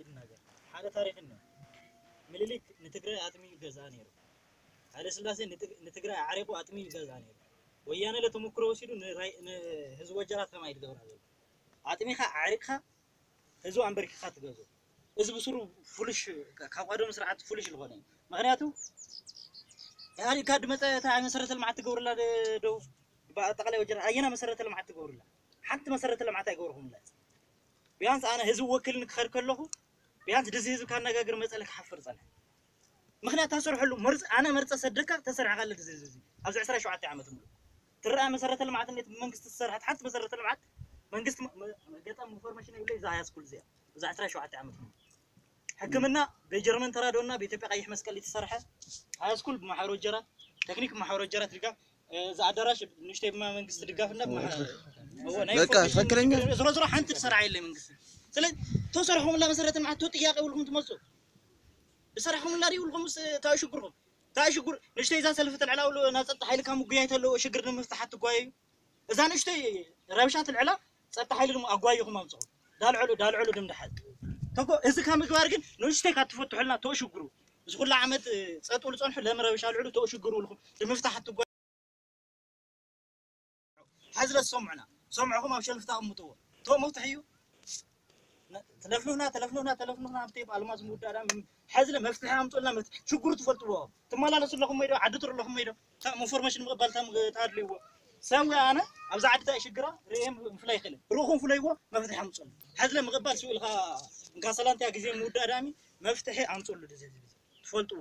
ይናገር ሓደ ታሪክ እኒኦ። ምኒልክ ንትግራይ ኣጥሚዩ ይገዝኣ ነይሩ። ሃይለ ስላሴ ንትግ- ንትግራይ ኣዕሪቁ ኣጥሚዩ ይገዝኣ ነይሩ። ወያነ ለተሞክሮ ወሲዱ ንራይ- ንህዝቢ ወጀራት ከማይ ትገብራ ዘሎ ኣጥሚኻ ኣዕሪቅካ ህዝቢ ኣንበርኪኻ ትገዝኦ። እዚ ብስሩ ፉሉሽ ካብ ቀደም ስርዓት ፉሉሽ ዝኾነ እዩ። ምክንያቱ ኢህኣዴግ ካብ ድመፀ እታ መሰረተ ልምዓት ትገብርላ ዶ- ደቡብ ብኣጠቃላይ ወጀራት ኣየና መሰረተ ልምዓት ትገብርላ? ሓንቲ መሰረተ ልምዓት ኣይገብርኩምላ። ቢያንስ ኣነ ህዝቢ ወኪልኒ ክኸድ ከለኹ ቢያንስ ድዚ ህዝቢ ካነጋግር መፀለ ክሓፍር ፀንሐ። ምክንያት ታሰርሐሉ መርፅ ኣነ መርፀ ሰደካ ተሰርሐ ካለ ድዚ ህዝቢ ኣብዚ ዕስራ ሸውዓተ ዓመት ሙሉ ትረኣ መሰረተ ልምዓት እንዴት ብመንግስቲ ዝሰርሐት ሓንቲ መሰረተ ልምዓት መንግስቲ መ- መ- ገጠም ኢንፎርሜሽን የብለይ እዛ ሃያ ስኩል እዚኣ እዛ ዕስራ ሸውዓተ ዓመት ሙሉ ሕክምና ብጀርመን ተራድኦና ብኢትዮጵያ ቀይሕ መስቀል ዝተሰርሐ ሃያ ስኩል ብማሕበር ወጀራት ቴክኒክ ብማሕበር ወጀራት ድጋፍ እዚ ኣዳራሽ ንእሽተይ ብማ መንግስቲ ድጋፍ እና ብማሕበር እዎ፣ ናይ በቃ ኢንፎርሜሽን ትክክለኛ ዝሮ ዝሮ ሓንቲ ዝሰራ የለ መንግስቲ ስለዚ ተሰርሖም ላ መሰረተ ልምዓት ጥያቄ ይብልኩም ትመፁ ዝሰራሕኹም ላ ይብልኩም እንታይ ሽግርኩም እንታይ ሽግር ንእሽተይ እዛ ሰልፊ ተልዕላ ውሉ ናብ ፀጥታ ሓይሊ ካብ ምጉያይ ተለዎ ሽግር ንምፍታሕ ትጓየዩ እዛ ንእሽተይ ረብሻ ትልዕላ ፀጥታ ሓይሊ ድማ ኣጓይኹም ኣምፅኹ ዳልዕሉ ዳልዕሉ ድምድሓል ተኮ እዚ ካብ ምግባር ግን ንእሽተይ ካብ ትፈትሑልና ተሽግሩ እዚ ኩሉ ዓመት ፀጥ ዝፀንሑ ለምን ረብሻ ልዕሉ ተሽግሩ ልኩም ንምፍታሕ ትጓ ሓዝለ ዝሰምዑና ሰምዕኹም ኣብ ሸልፍ ተቐምጥዎ ቶ መፍትሒ እዩ ትለፍልፍና ትለፍልፍና ትለፍልፍና ኣብቲ ኣልማዝ ምውዳዳ ሓዝለ መፍትሒ ኣምጡልና ሽግሩ ትፈልጥዎ ትመላለሱ ኣለኹም ወይ ዶ ዓዲ ጥሩ ኣለኹም ወይ ዶ ኢንፎርሜሽን ምቕባል ታድልይዎ ሰብ ወይ ኣነ ኣብዚ ዓዲ ታይ ሽግራ ርእየ ምፍላይ ይኽእል ርኹም ፍለይዎ መፍትሒ ኣምፅሉ ሓዝለ ምቕባል ስብልካ እንካ ሰላንቲያ ግዜ ምውዳዳሚ መፍትሒ ኣምፅሉ ትፈልጥዎ